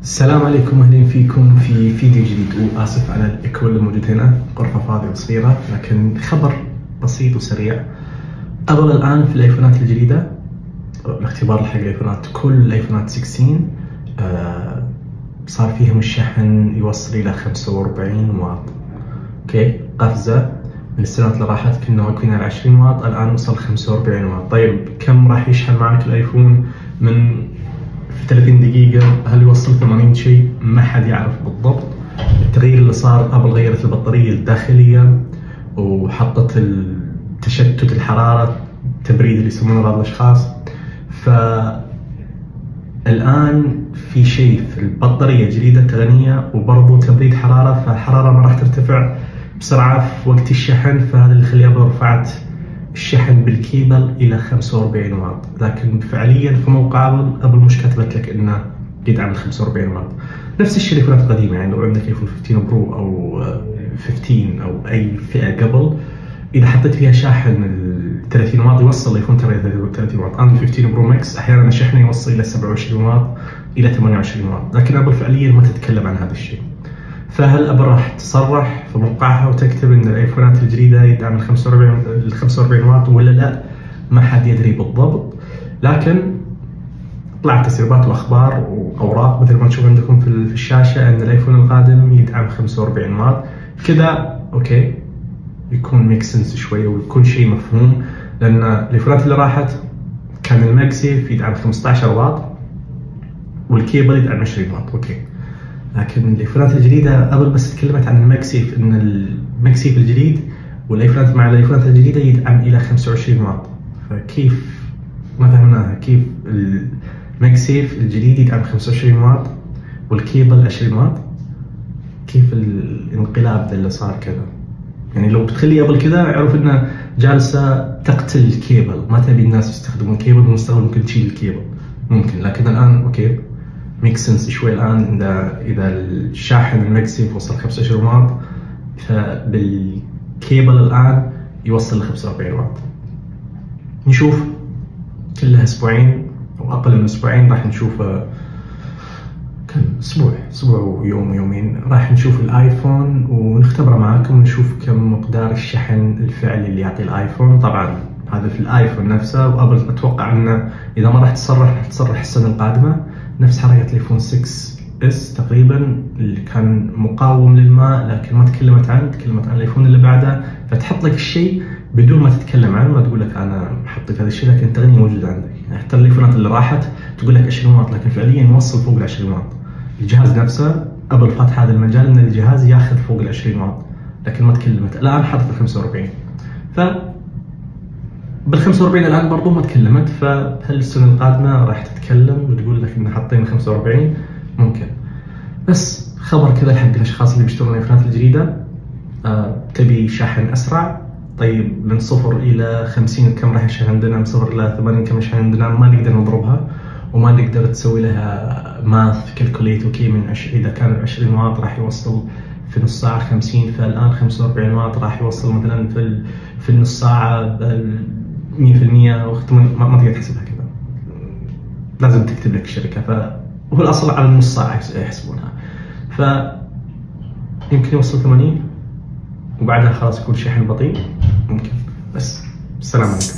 السلام عليكم، اهلا فيكم في فيديو جديد. واسف على الايكو اللي موجود هنا، غرفه فاضيه وصغيره، لكن خبر بسيط وسريع. ابل الان في الايفونات الجديده، الاختبار حق الايفونات، كل الايفونات 16 صار فيهم الشحن يوصل الى 45 واط. اوكي، قفزه من السنوات اللي راحت كنا واقفين على 20 واط، الان وصل 45 واط. طيب كم راح يشحن معك الايفون من في 30 دقيقة؟ هل يوصل 80 شيء؟ ما حد يعرف بالضبط. التغيير اللي صار، ابل غيرت البطارية الداخلية وحطت تشتت الحرارة، تبريد اللي يسمونه بعض الاشخاص. فالان في شيء في البطارية جديدة تقنية وبرضه تبريد حرارة، فالحرارة ما راح ترتفع بسرعة في وقت الشحن، فهذا اللي يخلي ابل رفعت الشحن بالكيبل الى 45 واط. لكن فعليا في موقع ابل مش كتبت لك انه يدعم ال 45 واط. نفس الشيء الايفونات القديمه، يعني لو عندك ايفون 15 برو او 15 او اي فئه قبل، اذا حطيت فيها شاحن ال 30 واط يوصل الايفون 30 واط. انا 15 برو ماكس احيانا شحنه يوصل الى 27 واط الى 28 واط، لكن ابل فعليا ما تتكلم عن هذا الشيء. فهل ابل راح تصرح في موقعها وتكتب ان الايفونات الجديده يدعم ال 45 واط ولا لا؟ ما حد يدري بالضبط، لكن طلعت تسريبات واخبار واوراق مثل ما تشوف عندكم في الشاشه ان الايفون القادم يدعم 45 واط. كذا اوكي، يكون ميك سنس شويه ويكون شيء مفهوم، لان الايفونات اللي راحت كان الماكسيف يدعم 15 واط والكيبل يدعم 20 واط. اوكي، لكن الايفونات الجديده ابل بس تكلمت عن الماكسيف، ان الماكسيف الجديد والايفونات مع الايفونات الجديده يدعم الى 25 واط. فكيف؟ ما فهمناها. كيف الماكسيف الجديد يدعم 25 واط والكيبل 20 واط؟ كيف الانقلاب اللي صار كذا؟ يعني لو بتخلي ابل كذا اعرف انها جالسه تقتل الكيبل، ما تبي الناس يستخدمون الكيبل، والمستقبل ممكن تشيل الكيبل ممكن. لكن الان اوكي، ميك سنس شوي الان. اذا الشاحن الماكسيف وصل 25 واط، فبالكيبل الان يوصل ل 45 واط. نشوف كلها اسبوعين او اقل من اسبوعين، راح نشوف كم اسبوع ويوم ويومين، راح نشوف الايفون ونختبره معاكم ونشوف كم مقدار الشحن الفعلي اللي يعطي الايفون. طبعا هذا في الايفون نفسه، وابل اتوقع انه اذا ما راح تصرح السنه القادمه نفس حركه الايفون 6 اس تقريبا اللي كان مقاوم للماء، لكن ما تكلمت عن الايفون اللي بعده. فتحط لك الشيء بدون ما تتكلم عنه، ما تقول لك انا حطيت هذا الشيء، لكن التقنيه موجوده عندك. يعني حتى الايفونات اللي راحت تقول لك 20 واط، لكن فعليا يوصل فوق ال 20 واط. الجهاز نفسه ابل فاتح هذا المجال ان الجهاز ياخذ فوق ال 20 واط، لكن ما تكلمت. الان حطت ال 45، ف بال 45 الان برضو ما تكلمت. فهل السنه القادمه راح تتكلم وتقول لك ان حاطين 45؟ ممكن. بس خبر كذا حق الاشخاص اللي بيشترون الايفونات الجديده. تبي شاحن اسرع؟ طيب من 0 إلى 50 كم راح يشحن عندنا؟ من 0 إلى 80 كم يشحن عندنا؟ ما نقدر نضربها وما نقدر تسوي لها ماث كالكوليت. اوكي، من اذا كان 20 واط راح يوصل في نص ساعه 50، فالان 45 واط راح يوصل مثلا في النص ساعه 100%. ما تقدر تحسبها كذا، لازم تكتب لك الشركه. فهو الاصل على النص ساعه يحسبونها. ف يمكن يوصل 80 وبعدها خلاص يكون شحن بطيء، ممكن. بس السلام عليكم.